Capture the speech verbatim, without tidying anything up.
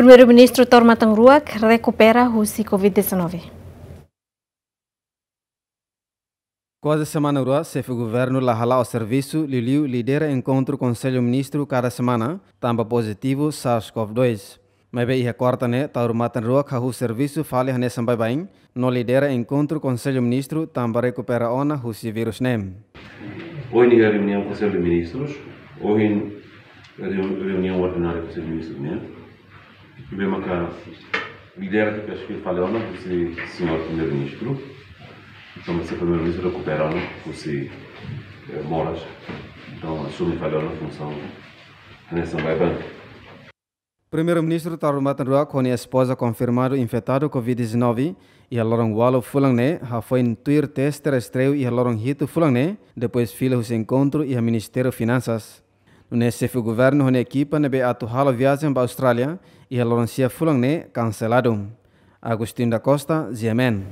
Primeiru-Ministru Taur Matan Ruak rekupera husi covid dezanove. Kuaze semana rua, xefe governu la hala'o servisu, liuliu lidera enkontru Konsellu Ministru kada semana, tanba pozitivu SARS-CoV dois. Maibé iha kuarta ne'e, Taur Matan Ruak hahú servisu fali hanesan baibain, no lidera enkontru Konsellu Ministru tanba rekupera ona husi vírus ne'e. Ohin iha reuniaun Konsellu Ministrus, ohin reu-, reuniaun ordinária Konsellu Ministrus nian. Ne'ebé maka lidera atu fila fali ona husi señór Primeiru-Ministru. Entaun, se Primeiru-Ministru rekupera ona husi, eh, moras. Entaun, asume fali ona funsaun hanesan baibain. Primeiru-Ministru Taur Matan Ruak ho nia espoza konfirmadu infetadu covid dezanove iha loron ualu fulan ne'e, hafoin tuir teste rastreiu iha loron hitu fulan ne'e, depois fila husi enkontru iha Ministériu Finansas. Nune'e xefe governu ho nia ekipa ne'ebé atu halo viajen ba Austrália iha loron sia fulan ne'e kanseladu. Agostinho da Costa, G M N.